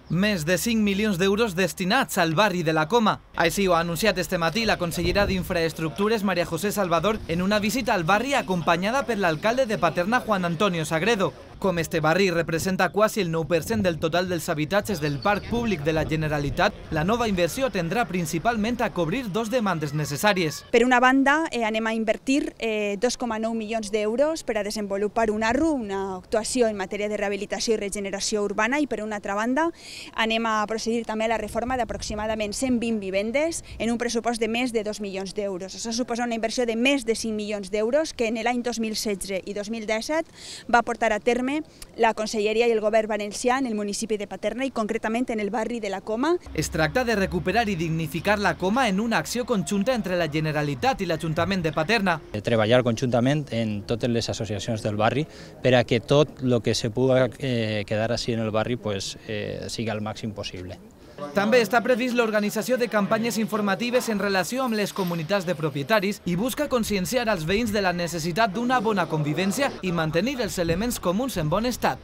Més de 5 milions d'euros destinats al barri de la Coma. Així ho ha anunciat este matí la consellera d'Infraestructures, María José Salvador, en una visita al barri acompanyada per l'alcalde de Paterna, Juan Antonio Sagredo. Com este barri representa quasi el 9% del total dels habitatges del parc públic de la Generalitat, la nova inversió tendrà principalment a cobrir dos demandes necessàries. Per una banda, anem a invertir 2,9 milions d'euros per a desenvolupar una ARRU, una actuació en matèria de rehabilitació i regeneració urbana, i per una altra banda, anem a procedir també a la reforma d'aproximadament 120 vivendes en un pressupost de més de 2 milions d'euros. Això suposa una inversió de més de 5 milions d'euros que en l'any 2016 i 2017 va portar a terme la Conselleria i el Govern valencià en el municipi de Paterna i concretament en el barri de la Coma. Es tracta de recuperar i dignificar la Coma en una acció conjunta entre la Generalitat i l'Ajuntament de Paterna. Treballar conjuntament en totes les associacions del barri per a que tot el que se pugui quedar així en el barri sigui al màxim possible. També està previst l'organització de campanyes informatives en relació amb les comunitats de propietaris i busca conscienciar als veïns de la necessitat d'una bona convivència i mantenir els elements comuns en bon estat.